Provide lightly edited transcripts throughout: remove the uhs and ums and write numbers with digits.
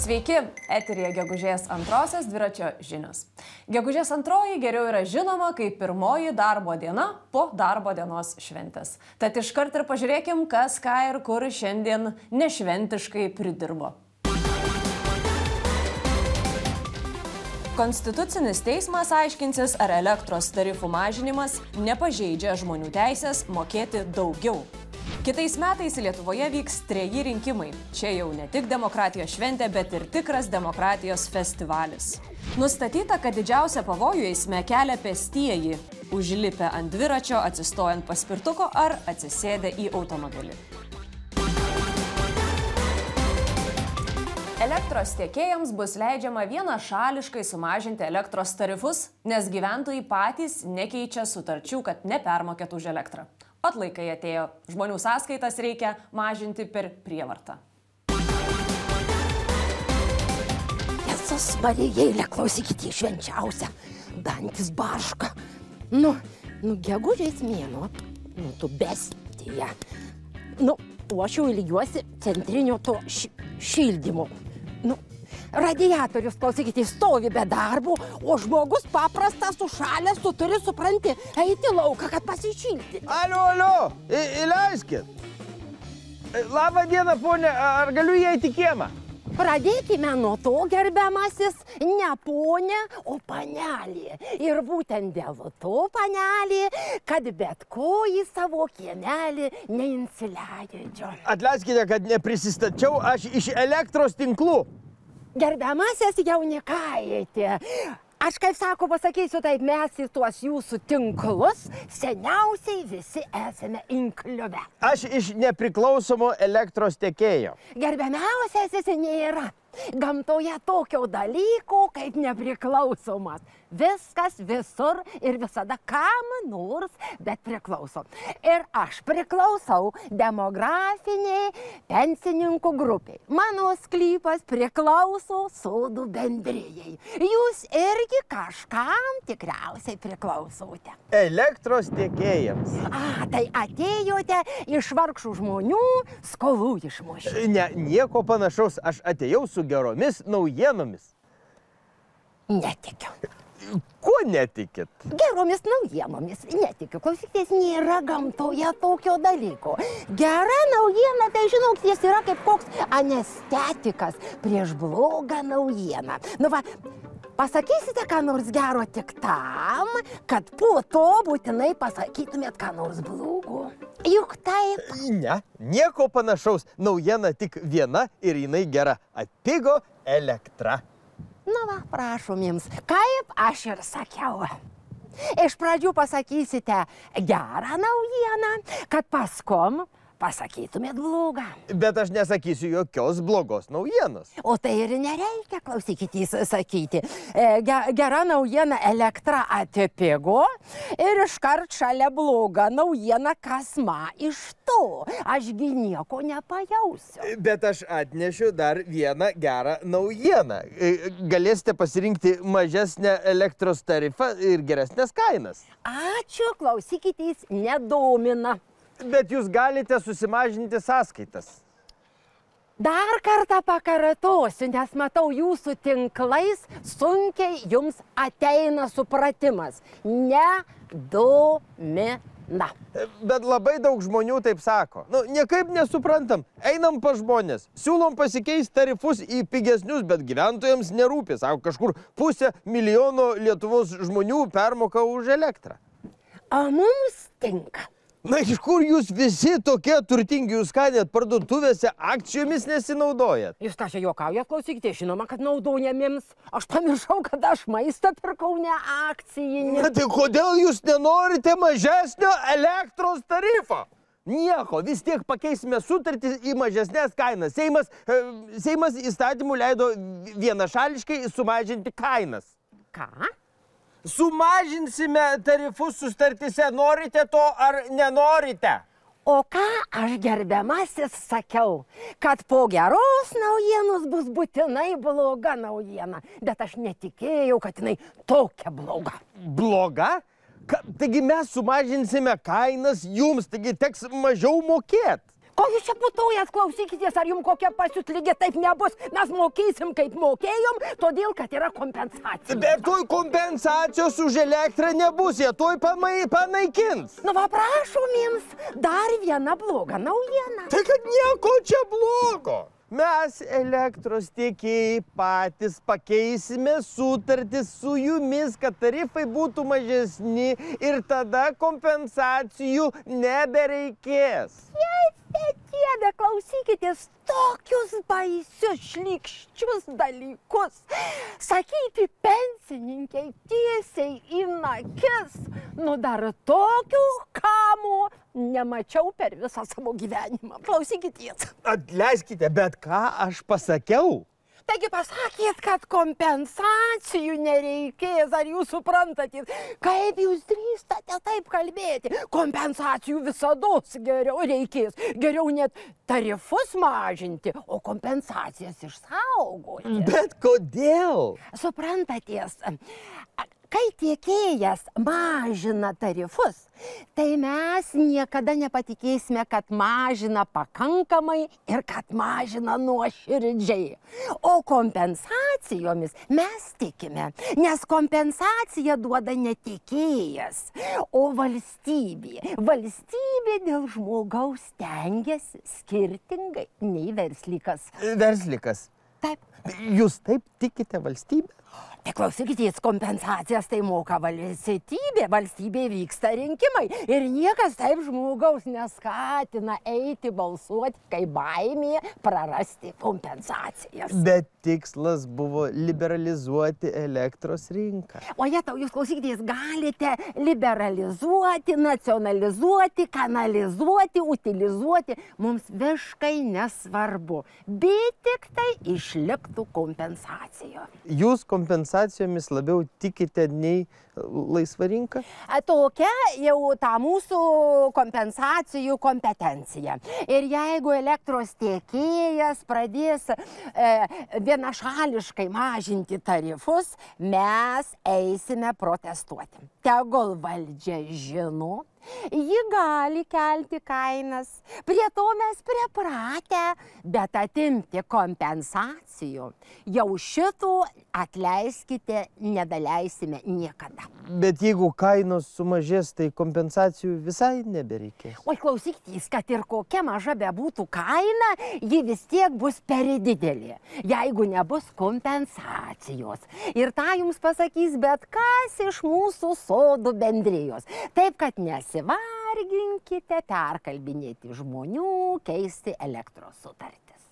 Sveiki, eteryje gegužės antrosios dviračio žinios. Gegužės antroji geriau yra žinoma kaip pirmoji darbo diena po darbo dienos šventės. Tad iškart ir pažiūrėkim, kas ką ir kur šiandien nešventiškai pridirbo. Konstitucinis teismas aiškinsis, ar elektros tarifų mažinimas nepažeidžia žmonių teisės mokėti daugiau. Kitais metais Lietuvoje vyks 3 rinkimai. Čia jau ne tik demokratijos šventė, bet ir tikras demokratijos festivalis. Nustatyta, kad didžiausią pavojų eisme kelia pėstieji, užlipę ant dviračio, atsistojant paspirtuko ar atsisėdę į automobilį. Elektros tiekėjams bus leidžiama vienašališkai sumažinti elektros tarifus, nes gyventojai patys nekeičia sutarčių, kad nepermokėtų už elektrą. Atlaikai atėjo. Žmonių sąskaitas reikia mažinti per prievartą. Jėzus Marijėlė, klausykite, švenčiausia. Dantis barška. Nu, gegužės mėnuo. Tu bestija. O aš jau ilgiuosi centrinio to šildymo. Radiatorius, klausykite, stovi be darbo, o žmogus paprastas sušalęs, tu turi, supranti, eiti lauką, kad pasišilti. Alio, įleiskit. Labą dieną, ponė, ar galiu įeiti į kiemą? Pradėkime nuo to, gerbiamasis, ne ponė, o panelė. Ir būtent dėl to, panelė, kad bet ko į savo kiemelį neinsileidžia. Atleiskite, kad neprisistačiau, aš iš elektros tinklų. Gerbiamasis jaunikaitė, aš kaip sako, pasakysiu taip, mes į tuos jūsų tinklus seniausiai visi esame inkliuvę. Aš iš nepriklausomo elektros tiekėjo. Gerbiamiausiasis nėra. Gamtoje tokio dalyko kaip nepriklausomas. Viskas visur ir visada kam nors, bet priklauso. Ir aš priklausau demografiniai pensininkų grupiai. Mano sklypas priklauso sodų bendrijai. Jūs irgi kažkam tikriausiai priklausote. Elektros tiekėjams. Tai atėjote iš vargšų žmonių skolų išmušti. Ne, nieko panašaus, aš atėjau su geromis naujienomis. Netikiu. Ko netikit? Geromis naujienomis netikiu. Klausykitės, nėra gamtoje tokio dalyko. Gera naujiena, tai žinok, jis yra kaip koks anestetikas prieš blogą naujieną. Pasakysite ką nors gero tik tam, kad po to būtinai pasakytumėt ką nors blogo. Juk taip. Ne, nieko panašaus. Naujiena tik viena ir jinai gera. Atpigo elektra. Prašom jums, kaip aš ir sakiau. Iš pradžių pasakysite gerą naujieną, kad paskom pasakytumėt blogą. Bet aš nesakysiu jokios blogos naujienos. O tai ir nereikia, klausykite, sakyti. Gera naujiena, elektra atpigo ir iškart šalia bloga naujiena, kas man iš to. Ašgi nieko nepajausiu. Bet aš atnešiu dar vieną gerą naujieną. Galėsite pasirinkti mažesnę elektros tarifą ir geresnės kainas. Ačiū, klausykitės, nedomina. Bet jūs galite susimažinti sąskaitas. Dar kartą pakartosiu, nes matau jūsų tinklais sunkiai jums ateina supratimas. Nedomina. Bet labai daug žmonių taip sako. Niekaip nesuprantam. Einam pas žmonės. Siūlom pasikeisti tarifus į pigesnius, bet gyventojams nerūpi. Sako, kažkur 500 000 Lietuvos žmonių permoka už elektrą. O mums tinka. Iš kur jūs visi tokie turtingi, jūs ką net parduotuvėse akcijomis nesinaudojat? Jūs ką čia juokaujat, klausykite, žinoma, kad naudojamiems. Aš pamiršau, kad aš maistą pirkau, ne akcijinį. Tai kodėl jūs nenorite mažesnio elektros tarifo? Nieko, vis tiek pakeisime sutartį į mažesnės kainas. Seimas įstatymų leido vienašališkai sumažinti kainas. Ką? Sumažinsime tarifus sutartyse, norite to ar nenorite? O ką aš gerbiamasis sakiau, kad po geros naujienos bus būtinai bloga naujiena, bet aš netikėjau, kad jinai tokia bloga. Bloga? Taigi mes sumažinsime kainas jums, taigi teks mažiau mokėti. Ko jūs čia putojat, klausykitės, ar jums kokia pasiutlygė, taip nebus. Mes mokėsim, kaip mokėjom, todėl, kad yra kompensacija. Bet toj kompensacijos už elektrą nebus, jie toj panaikins. Nu, va, prašom jums, dar viena bloga naujiena. Tai kad nieko čia blogo. Mes elektros tiekėjai patys pakeisime sutartis su jumis, kad tarifai būtų mažesni ir tada kompensacijų nebereikės. Dieve, klausykitės, tokius baisius, šlykščius dalykus sakyti pensininkai tiesiai į akis. Nu, dar tokių kamų nemačiau per visą savo gyvenimą. Klausykitės. Atleiskite, bet ką aš pasakiau? Taigi pasakėt, kad kompensacijų nereikės, ar jūs suprantate? Kaip jūs drįstate taip kalbėti? Kompensacijų visados geriau reikės. Geriau net tarifus mažinti, o kompensacijas išsaugoti. Bet kodėl? Suprantatės, kai tiekėjas mažina tarifus, tai mes niekada nepatikėsime, kad mažina pakankamai ir kad mažina nuoširdžiai. O kompensacijomis mes tikime, nes kompensaciją duoda ne tiekėjas, o valstybė. Valstybė dėl žmogaus stengiasi skirtingai nei verslikas. Verslikas? Taip. Jūs taip tikite valstybę? Tai klausykitės, kompensacijas tai moka valstybė, valstybė vyksta rinkimai ir niekas taip žmogaus neskatina eiti balsuoti, kai baimė prarasti kompensacijas. Bet tikslas buvo liberalizuoti elektros rinką. O jetau, jūs klausykitės, galite liberalizuoti, nacionalizuoti, kanalizuoti, utilizuoti, mums visiškai nesvarbu, bet tik tai išliktų kompensacija. Jūs kompensacijomis labiau tikite nei laisva rinka? Tokia jau ta mūsų kompensacijų kompetencija. Ir jeigu elektros tiekėjas pradės vienašališkai mažinti tarifus, mes eisime protestuoti. Tegul valdžia žino, ji gali kelti kainas, prie to mes pripratę, bet atimti kompensacijų jau šitų, atleiskite, nedaleisime niekada. Bet jeigu kainos sumažės, tai kompensacijų visai nebereikės. Oi, klausykitės, kad ir kokia maža bebūtų kaina, ji vis tiek bus per didelė, jeigu nebus kompensacijos. Ir tą jums pasakys bet kas iš mūsų sodų bendrijos. Taip, kad nesivarginkite perkalbinėti žmonių, keisti elektros sutartis.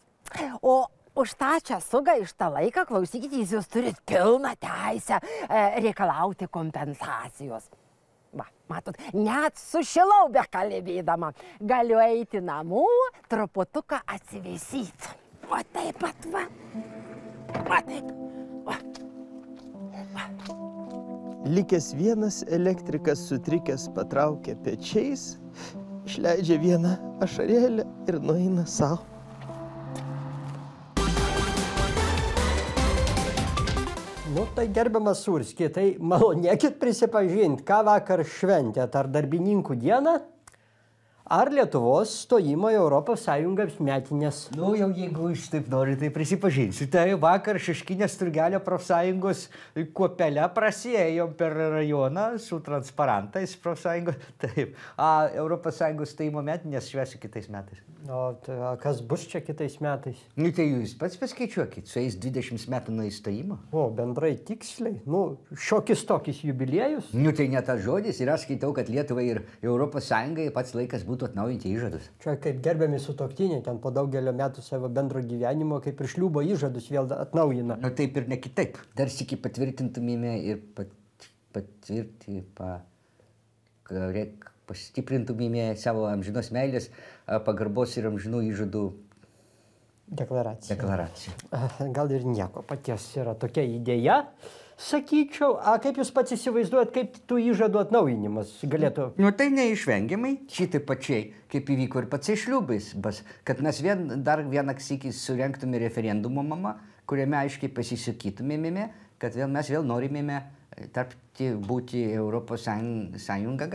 O už tą čia sugaištą laiką, klausykitės, jūs turit pilną teisę reikalauti kompensacijos. Va, matot, net sušilau bekalbėdama. Galiu eiti namo, truputuką atsivėsyti. O taip pat, va. Va taip. Va. Va. Likęs vienas elektrikas sutrikęs patraukia pečiais, išleidžia vieną ašarėlę ir nueina savo. Nu, tai gerbiamas Surski, tai malonėkit prisipažinti, ką vakar šventėt, ar darbininkų dieną, ar Lietuvos stojimo į Europos Sąjungos metinės. Nu, jau jeigu iš taip nori, tai prisipažinsiu. Tai vakar Šeškinės Turgelio profsąjungos kuopelę prasiėjom per rajoną su transparantais profsąjungos. Taip, Europos Sąjungos stojimo metinės švęsiu kitais metais. O tai, kas bus čia kitais metais? Nu, tai jūs pats paskaičiuokit, su jais 20 metų nuo įstojimo. O, bendrai tiksliai? Nu, šiokis tokis jubiliejus? Nu, tai ne tas žodis ir aš skaitau, kad Lietuvai ir Europos Sąjungai pats laikas būtų atnaujinti įžadus. Čia kaip gerbiami sutuoktiniai, ten po daugelio metų savo bendro gyvenimo, kaip ir šliubo įžadus vėl atnaujina. Nu, taip ir ne kitaip. Dar sykį patvirtintumėme ir pastiprintumėme savo amžinos meilės, pagarbos ir amžinų įžadų deklaracija. Deklaracija. Gal ir nieko paties yra tokia idėja. sakyčiau. Kaip jūs pats įsivaizduojat, kaip tų įžadų atnaujinimas galėtų? Nu tai neišvengiamai, šitai pačiai, kaip įvyko ir pats šliubais, kad mes dar vieną sykį surenktume referendumo mama, kuriame aiškiai pasisakytumėme, kad mes vėl norimėme būti Europos Sąjunga.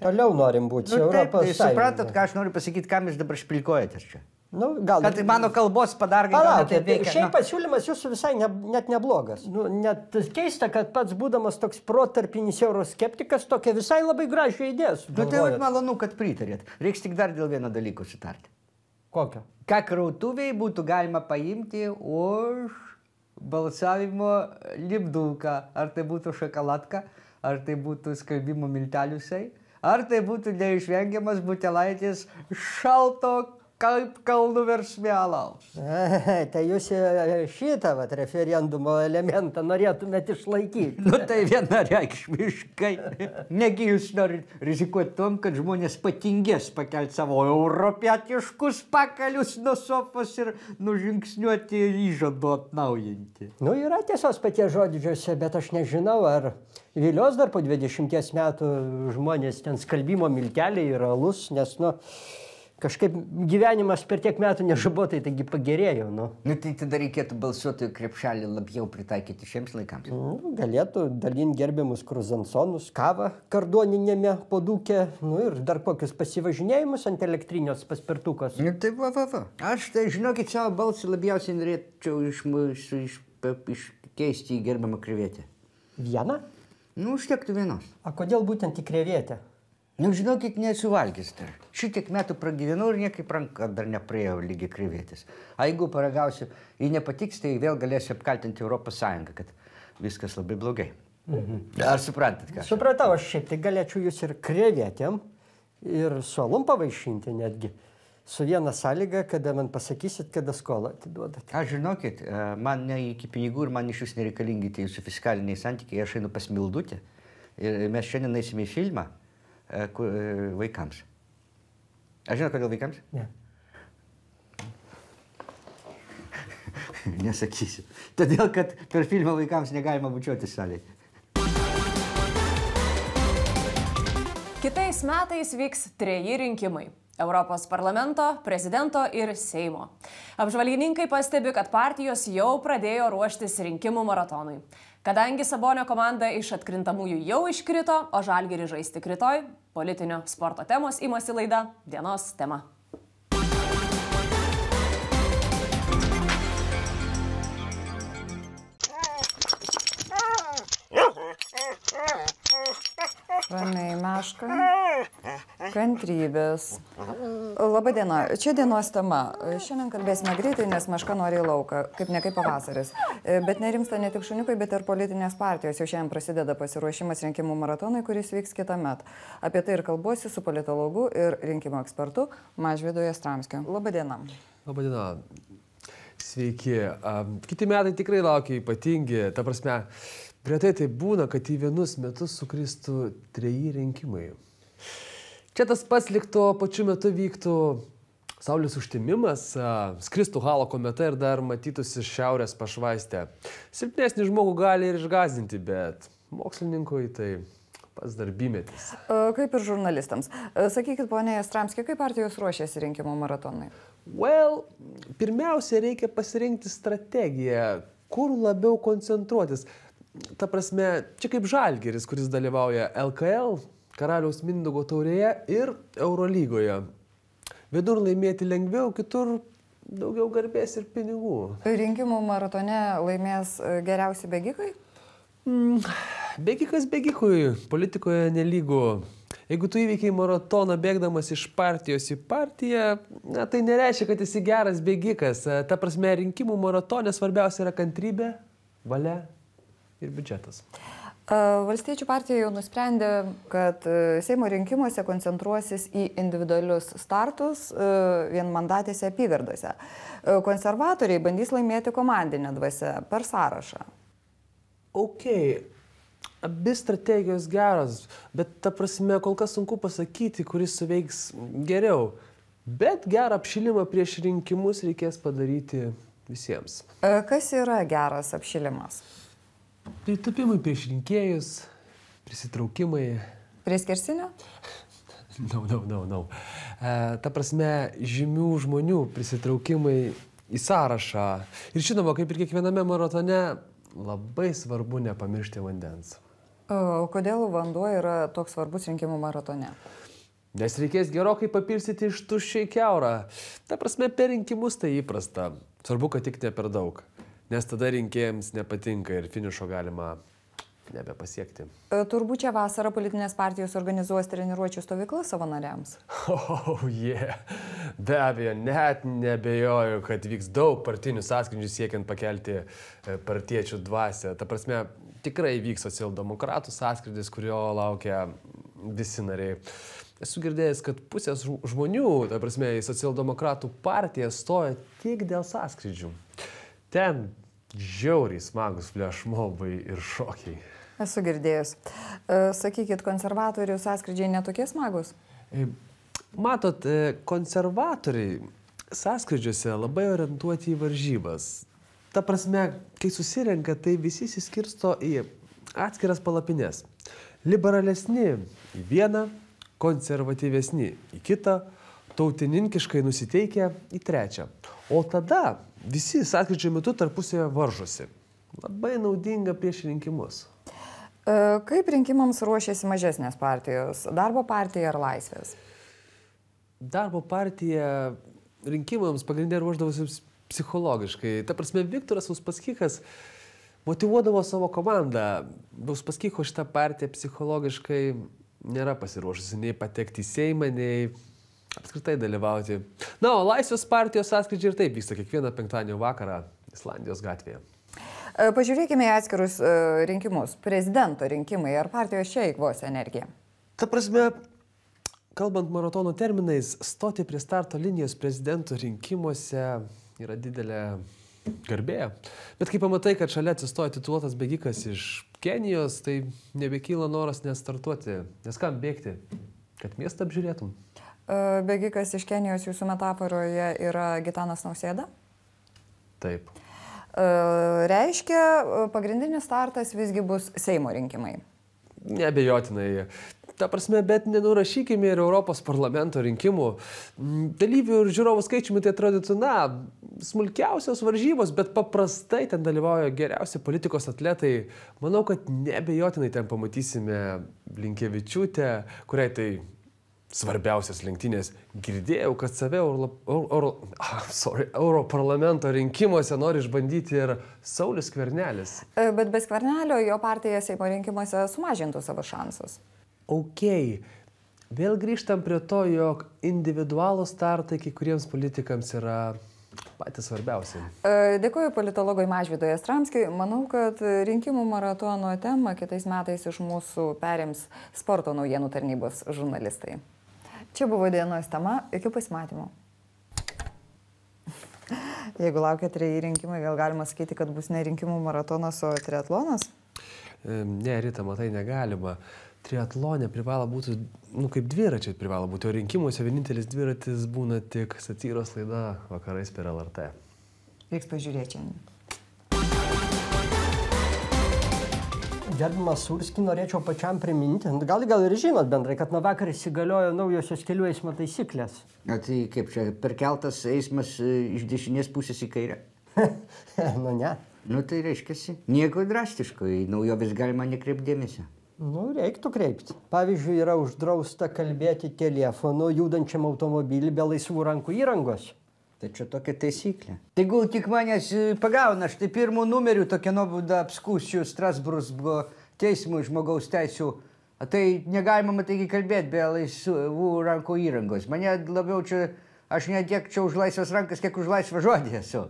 Toliau norim būti Europos Sąjunga. Suprantat, ką aš noriu pasakyti, ką jūs dabar špilkuojatės čia? Nu, gal... Kad mano kalbos padargai... Palaukit, šiaip pasiūlymas jūsų visai net neblogas. Nu, net keista, kad pats būdamas toks protarpinis euroskeptikas, tokia visai labai gražią idėją sugalvojot. Nu, tai malonu, kad pritarėt. Reiks tik dar dėl vieno dalyko sutarti. Kokio? Ką krautuviai būtų galima paimti už balsavimo lipduką. Ar tai būtų šokoladka, ar tai būtų skalbimo milteliusai, ar tai būtų neišvengiamas butelaitis šalto kaip kalnų versmė alaus. Tai jūs šitą referendumo elementą norėtumėt išlaikyti. Nu tai vienareikšmiškai. Negi jūs norit rizikuoti tom, kad žmonės patingės pakelti savo europietiškus pakalius nuo sofos ir nužingsniuoti įžadų atnaujinti. Nu, yra tiesos paties žodžiuose, bet aš nežinau, ar vilios dar po 20 metų žmonės ten skalbimo milteliai ir alus, nes, nu, kažkaip gyvenimas per tiek metų nežabotai, taigi pagerėjo, nu. Nu, tai tada reikėtų balsuotojų krepšelį labiau pritaikyti šiems laikams. Galėtų dalinti gerbiamus kruzansonus, kavą kardoninėme podūke, nu ir dar kokius pasivažinėjimus ant elektrinės paspirtukos. Nu, tai va. Aš tai, žinokit, savo balsą labiausiai norėčiau iškeisti į gerbiamą krevetę. Vieną? Nu, užtektų vienos. A kodėl būtent į krevetę? Nu, žinokit, nesu valgęs dar. Šitiek metų pragyvenau ir niekaip ranka dar nepraėjo lygiai krevetės. A jeigu paragausiu, jei nepatiks, tai vėl galėsiu apkaltinti Europos Sąjungą, kad viskas labai blogai. Ar suprantat ką? Supratau, aš šiaip tai galėčiau jūs ir krevetėm, ir suolum pavaišinti netgi. Su viena sąlyga, kada man pasakysit, kada skolą atiduodat. Aš žinokit, man ne iki pinigų ir man iš jūs nereikalingi tie jūsų fiskaliniai santykiai. Aš einu pas Mildutę ir mes šiandien eisime į filmą vaikams. Aš žinau, kodėl vaikams? Ne. Nesakysiu. Todėl, kad per filmą vaikams negalima bučiuotis salėje. Kitais metais vyks 3 rinkimai. Europos parlamento, prezidento ir Seimo. Apžvalgininkai pastebi, kad partijos jau pradėjo ruoštis rinkimų maratonui. Kadangi Sabonio komanda iš atkrintamųjų jau iškrito, o Žalgirį žais tik rytoj, politinio sporto temos imasi laida Dienos tema. Ramiai, meška. Kantrybės. Labą dieną. Čia dienos tema. Šiandien kalbėsime greitai, nes meška nori į lauką, kaip ne kaip pavasaris. Bet nerimsta ne tik šuniukai, bet ir politinės partijos. Jau šiandien prasideda pasiruošimas rinkimų maratonui, kuris vyks kitąmet. Apie tai ir kalbuosi su politologu ir rinkimų ekspertu Mažvydu Jastramskiu. Labą dieną. Labą dieną. Sveiki. Kiti metai tikrai laukia ypatingi. Ta prasme, retai tai būna, kad į vienus metus sukristų 3 rinkimai. Čia tas pats likto pačiu metu vyktų saulės užtemimas, skristų halo kometa ir dar matytųsi šiaurės pašvaistė. Silpnesnį žmogų gali ir išgąsdinti, bet mokslininkui tai pats darbymetis. Kaip ir žurnalistams. Sakykit, ponė Jastramski, kaip partijos ruošiasi rinkimų maratonai? Pirmiausia, reikia pasirinkti strategiją, kur labiau koncentruotis. Ta prasme, čia kaip Žalgiris, kuris dalyvauja LKL, Karaliaus Mindaugo taurėje ir Eurolygoje. Vienur laimėti lengviau, kitur daugiau garbės ir pinigų. Rinkimų maratone laimės geriausi bėgikai? Bėgikas bėgikui, politikoje nelygu. Jeigu tu įveikiai maratoną bėgdamas iš partijos į partiją, tai nereiškia, kad esi geras bėgikas. Ta prasme, rinkimų maratone svarbiausia yra kantrybė, valia ir biudžetas. Valstiečių partija jau nusprendė, kad Seimo rinkimuose koncentruosis į individualius startus vienmandatėse apygardose. Konservatoriai bandys laimėti komandinę dvasią per sąrašą. Abi strategijos geros, bet ta prasme kol kas sunku pasakyti, kuris suveiks geriau. Bet gerą apšilimą prieš rinkimus reikės padaryti visiems. Kas yra geras apšilimas? Pritupimai prieš rinkėjus, prisitraukimai. Prie skersinio? No. Ta prasme, žymių žmonių prisitraukimai į sąrašą. Ir žinoma, kaip ir kiekviename maratone, labai svarbu nepamiršti vandens. O kodėl vanduo yra toks svarbus rinkimų maratone? Nes reikės gerokai papilsyti iš tuščiai keurą. Ta prasme, per rinkimus tai įprasta. Svarbu, kad tik ne per daug. Nes tada rinkėjams nepatinka ir finišo galima nebepasiekti. Turbūt šią vasarą politinės partijos organizuos treniruočių stovyklas savo nariams. Be abejo, net nebejoju, kad vyks daug partinių sąskrydžių siekiant pakelti partiečių dvasią. Ta prasme, tikrai vyks socialdemokratų sąskrydis, kurio laukia visi nariai. Esu girdėjęs, kad pusės žmonių, ta prasme, į socialdemokratų partiją stoja tik dėl sąskrydžių. Ten žiauriai smagus flešmobai ir šokiai. Esu girdėjęs. Sakykit, konservatorių sąskrydžiai netokie smagus? Matot, konservatoriai sąskrydžiuose labai orientuoti į varžybas. Ta prasme, kai susirenka, tai visi įsiskirsto į atskiras palapines. Liberalesni į vieną, konservatyvesni į kitą, tautininkiškai nusiteikę į trečią. O tada visi sąskrydžio metu tarpusėje varžosi. Labai naudinga prieš rinkimus. Kaip rinkimams ruošiasi mažesnės partijos? Darbo partija ar Laisvės? Darbo partija rinkimams pagrindė ruoždavosi psichologiškai. Ta prasme, Viktoras Uspaskichas motyvuodavo savo komandą. Uspaskicho šitą partiją psichologiškai nėra pasiruošusi nei patekti į Seimą, nei apskritai dalyvauti. Na, o Laisvės partijos sąskrydžiai ir taip vyksta kiekvieną penktadienio vakarą Islandijos gatvėje. Pažiūrėkime į atskirus rinkimus. Prezidento rinkimai. Ar partijos čia eikvos energiją? Ta prasme, kalbant maratono terminais, stoti prie starto linijos prezidento rinkimuose yra didelė garbė. Bet kai pamatai, kad šalia atsistoja tituluotas bėgikas iš Kenijos, tai nebekyla noras nestartuoti. Nes kam bėgti? Kad miestą apžiūrėtum. Bėgikas iš Kenijos jūsų metaforoje yra Gitanas Nausėda? Taip. Reiškia, pagrindinis startas visgi bus Seimo rinkimai. Neabejotinai. Ta prasme, bet nenurašykime ir Europos parlamento rinkimų. Dalyvių ir žiūrovų skaičiumi tai atrodytų, smulkiausios varžybos, bet paprastai ten dalyvauja geriausi politikos atletai. Manau, kad neabejotinai ten pamatysime Blinkevičiūtę, kuriai tai svarbiausias lenktynės. Girdėjau, kad save Europarlamento rinkimuose nori išbandyti ir Saulius Skvernelis. Bet be Skvernelio jo partija Seimo rinkimuose sumažintų savo šansus. Vėl grįžtam prie to, jog individualų startai kai kuriems politikams yra patys svarbiausi. Dėkuoju politologui Mažvydui Jastramskiui. Manau, kad rinkimų maratono temą kitais metais iš mūsų perims sporto naujienų tarnybos žurnalistai. Čia buvo dienos tema. Iki pasimatymo. Jeigu laukia 3 rinkimai, vėl galima sakyti, kad bus ne rinkimų maratonas, o triatlonas? Ne, Rita, matai, negalima. Triatlone privalo būti, kaip dviračiai privalo būti, o rinkimuose vienintelis dviratis būna tik satyros laida vakarais per LRT. Reiks pažiūrėti šiandien. Gerbiamas Surski, norėčiau pačiam priminti, gal ir žinot bendrai, kad nuo vakar įsigaliojo naujosios kelių eismo taisyklės. Tai kaip čia, perkeltas eismas iš dešinės pusės į kairę? Ne. Tai reiškiasi, nieko drastiško, į naujovės galima nekreipdėmėsio. Reiktų kreipti. Pavyzdžiui, yra uždrausta kalbėti telefonu judančiam automobilį be laisvų rankų įrangos. Tai čia tokia taisyklė. Tegul tik manęs pagauna, štai pirmų numerių tokia nuobauda apskūsiu Strasburgo teismui žmogaus teisių. Tai negalima, taigi, kalbėti be laisvų rankų įrangos. Mane labiau čia, aš ne tiek čia už laisvas rankas, kiek už laisvą žodį esu.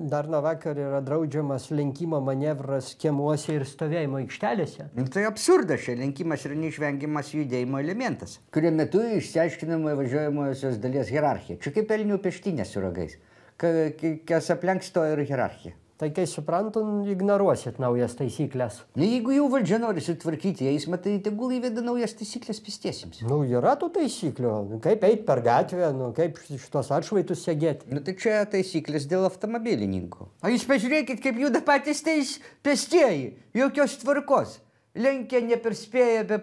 Dar nuo vakar yra draudžiamas lenkimo manevras kiemuose ir stovėjimo aikštelėse. Tai absurdas, čia lenkimas yra neišvengiamas judėjimo elementas, kurio metu išsiaiškinama važiuojamosios dalies hierarchija. Čia kaip elnių peštynė su ragais. Kas aplenks to ir hierarchija. Tai kai suprantu, ignoruosit naujas taisyklės. Na, jeigu jau valdžia nori sutvarkyti eismą, tai tegul įveda naujas taisyklės pėstiesiems. Nu, yra tų taisyklių. Kaip eit per gatvę, kaip šitos atšvaitus segėti. Nu, tai čia taisyklės dėl automobilininkų. O jūs pažiūrėkit, kaip juda patys pėstieji. Jokios tvarkos. Lenkia neperspėja,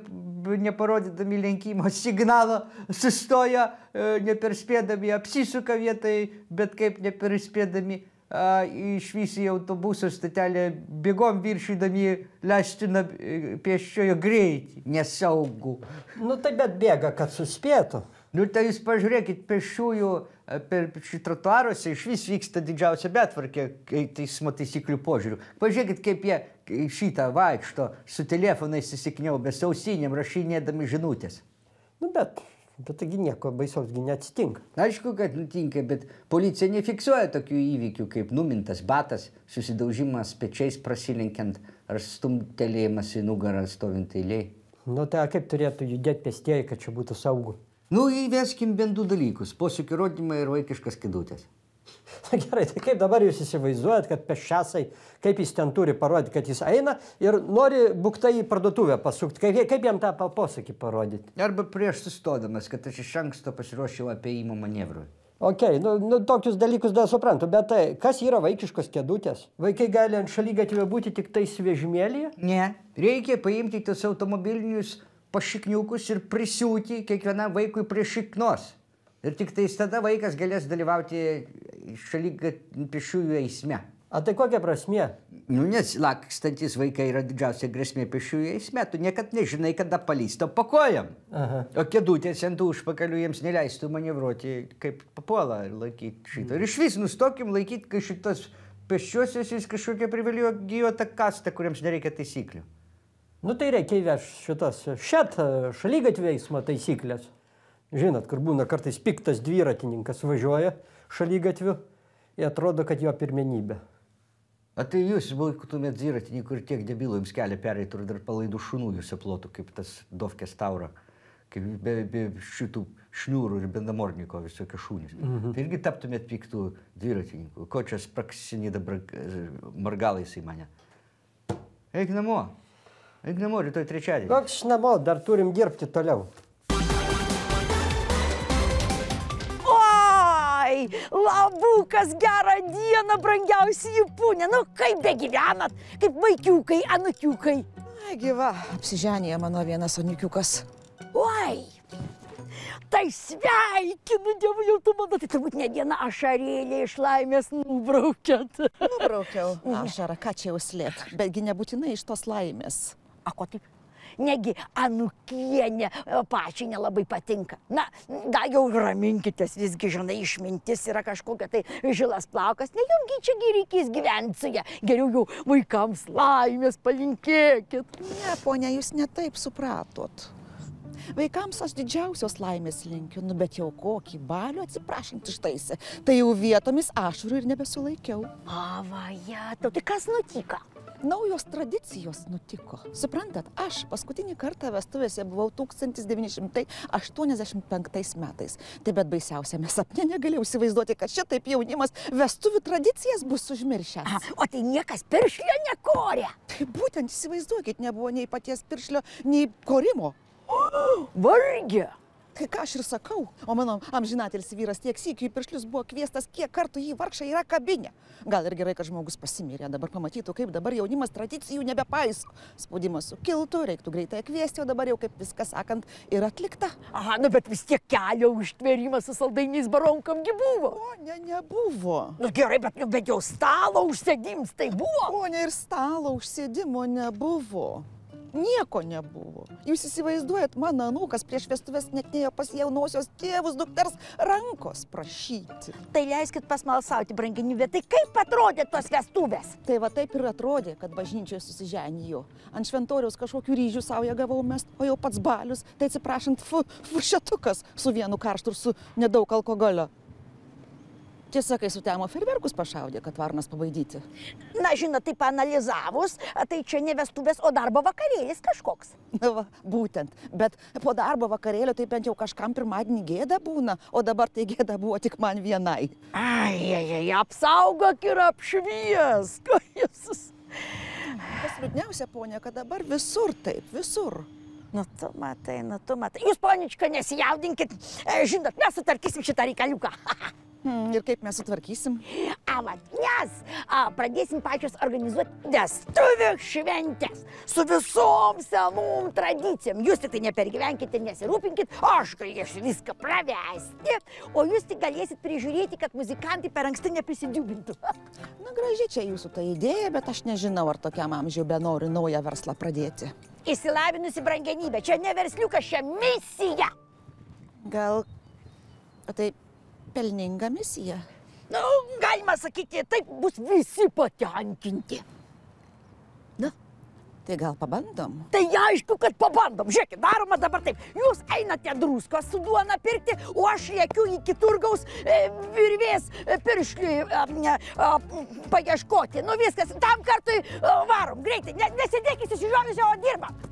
neparodydami lenkimo signalo, sustoja, neperspėdami, apsisuka vietai, bet kaip neperspėdami, išvysi į autobusų stotelę, bėgom viršydami leistiną pėsčiojo greitį. Nesaugu. Nu, tai bet bėga, kad suspėtų. Nu, tai jūs pažiūrėkit, pėsčiųjų per trotuaruose iš vis vyksta didžiausia betvarkė teismo taisyklių požiūrių. Pažiūrėkit, kaip jie šitą vaikšto su telefonais įsikniaubę, ausinėm, rašinėdami žinutės. Nu, bet taigi nieko baisaus neatsitinka. Aišku, kad nutinka, bet policija nefiksuoja tokių įvykių, kaip numintas batas, susidaužimas pečiais prasilenkiant ar stumtelėjimas į nugarą stovint eilėj. Nu, tai kaip turėtų judėti pėstieji, kad čia būtų saugu? Nu, įveskim bent du dalykus - posūkio rodymą ir vaikiškas kėdutės. Gerai, tai kaip dabar jūs įsivaizduojat, kad pėsčiasai, kaip jis ten turi parodyti, kad jis eina ir nori buktai į parduotuvę pasukti. Kaip jam tą posakį parodyti? Arba prieš sustodamas, kad aš iš anksto pasiruošiau apėjimo manevrui. Ok, nu tokius dalykus dar suprantu, bet tai kas yra vaikiškos kėdutės? Vaikai gali ant šaligatvio būti tik tais vežimėlyje? Ne, reikia paimti tos automobilinius pašikniukus ir prisiūti kiekvienam vaikui prie šiknos. Ir tik tais tada vaikas galės dalyvauti pėsčiųjų eisme. A tai kokia prasmė? Nu, nes lakstantis vaikai yra didžiausia grėsmė pėsčiųjų eisme. Tu niekad nežinai, kada palysto po kojam. Aha. O kėdutės ant užpakalių jiems neleistų manevruoti kaip papuola ir laikyti šitą. Ir iš vis nustokim laikyti, kai šitos pėsčiosios jis kažkokia privilegijuota kasta, kuriems nereikia taisyklių. Nu tai reikia įvežti šitas šaligatvio eismo taisyklės. Žinot, kur būna kartais piktas dviratininkas važiuoja šaligatviu ir atrodo, kad jo pirmenybė. A tai jūs būtumėt dviratininkų ir tiek debilų jums kelią pereitų ir dar palaidų šunų jūs aplotų, kaip tas Dovkės taura, kaip be šitų šniūrų ir bendamorniko visokio šūnis. Tai irgi taptumėt piktų dviratininkų. Ko čia spraksinį dabar margalais į mane? Eik namo, rytoj trečiadienį. Koks namo, dar turim dirbti toliau. Oi, labukas, gerą dieną, brangiausi Japūnė. Nu, kaip begyvenat, kaip vaikiukai, anukiukai. Ai, gyva, apsiženėja mano vienas anukiukas. Oi, tai sveikinu, Dievu, jau tu mano, tai turbūt ne viena ašarėlė iš laimės nubraukėt. Nubraukiau ašarą, ką čia jau slėpt, betgi nebūtinai iš tos laimės. A, ko taip? Negi anukienė pačiai nelabai patinka. Na, gal jau raminkitės, visgi, žinai, išmintis yra kažkokia tai žilas plaukas. Ne jumgi čia reikės gyventi su ja. Geriau jau vaikams laimės palinkėkit. Ne, ponia, jūs ne taip supratot. Vaikams aš didžiausios laimės linkiu, nu bet jau kokį balių atsiprašant ištaisė. Tai jau vietomis ašarų ir nebesulaikiau. Avaja, tau tai kas nutiko? Naujos tradicijos nutiko. Suprantat, aš paskutinį kartą vestuvėse buvau 1985 metais. Tai bet baisiausiame sapne negalėjau įsivaizduoti, kad šitaip jaunimas vestuvių tradicijas bus užmiršęs. O tai niekas piršlio nekorė. Tai būtent įsivaizduokit, nebuvo nei paties piršlio, nei korimo. Vargė. Kai ką aš ir sakau, o mano amžinatelis vyras tiek sykių į piršlius buvo kviestas, kiek kartų jį vargšą yra kabinė. Gal ir gerai, kad žmogus pasimirė, dabar pamatytų, kaip dabar jaunimas tradicijų nebepaiso. Spaudimas sukiltų, reiktų greitai kviesti, o dabar jau kaip viskas sakant ir atlikta. Aha, nu bet vis tiek kelio užtvėrimas su saldainiais baronkamgi buvo. O, nebuvo. Nu gerai, bet jau stalo užsėdims tai buvo. O, ne ir stalo užsėdimo nebuvo. Nieko nebuvo. Jūs įsivaizduojat, mano anūkas prieš vestuves net nėjo pas jaunosios tėvus dukters rankos prašyti. Tai leiskit pasmalsauti, brangenybė, tai kaip atrodė tos vestuvės? Tai va taip ir atrodė, kad bažnyčioje susiženijo. Ant šventoriaus kažkokių ryžių saują gavau mest, o jau pats balius, tai atsiprašant, furšetukas su vienu karštu ir su nedaug alkoholio. Tiesa, kai sutemo ferverkus pašaudė, kad varnas pabaidyti. Na, žinot, taip analizavus, tai čia ne vestuvės, o darbo vakarėlis kažkoks. Na va, būtent. Bet po darbo vakarėlio tai bent jau kažkam pirmadienį gėda būna, o dabar tai gėda buvo tik man vienai. Ai, apsaugok ir apšviesk. Jezus. Kas liūdniausia, ponia, kad dabar visur taip, visur. Nu, tu matai. Jūs, ponička, nesijaudinkit. Žinot, mes sutvarkysim šitą reikaliuką. Ir kaip mes sutvarkysim? Nes pradėsim pačios organizuoti vestuvių šventės su visom senom tradicijom. Jūs tik tai nepergyvenkite, nesirūpinkit, aš galėsiu viską pravesti, o jūs tik galėsit prižiūrėti, kad muzikantai per anksti neprisidiubintų. Na, gražiai čia jūsų ta idėja, bet aš nežinau, ar tokiam amžiui benoriu naują verslą pradėti. Išsilavinusi brangenybė, čia ne versliukas, čia misija. Gal tai pelninga misija? Nu, galima sakyti, taip bus visi patenkinti. Na, tai gal pabandom? Tai aišku, kad pabandom. Žiūrėkit, daroma dabar taip. Jūs einate druskos su duona pirkti, o aš lėkiu iki turgaus virvės piršliui paieškoti. Nu viskas, tam kartui varom, greitai. Nesidėkit įsižiūrėjusi, o dirbam.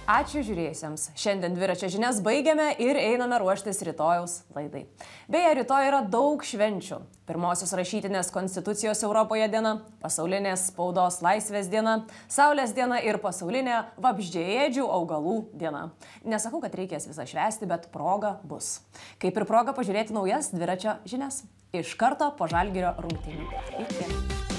Ačiū žiūrėjusiems. Šiandien dviračio žinias baigiame ir einame ruoštis rytojaus laidai. Beje, rytoj yra daug švenčių. Pirmosios rašytinės konstitucijos Europoje diena, pasaulinės spaudos laisvės diena, Saulės diena ir pasaulinė vabzdžiaėdžių augalų diena. Nesakau, kad reikės visą švęsti, bet proga bus. Kaip ir proga pažiūrėti naujas dviračio žinias. Iš karto po Žalgirio rungtynių. Iki.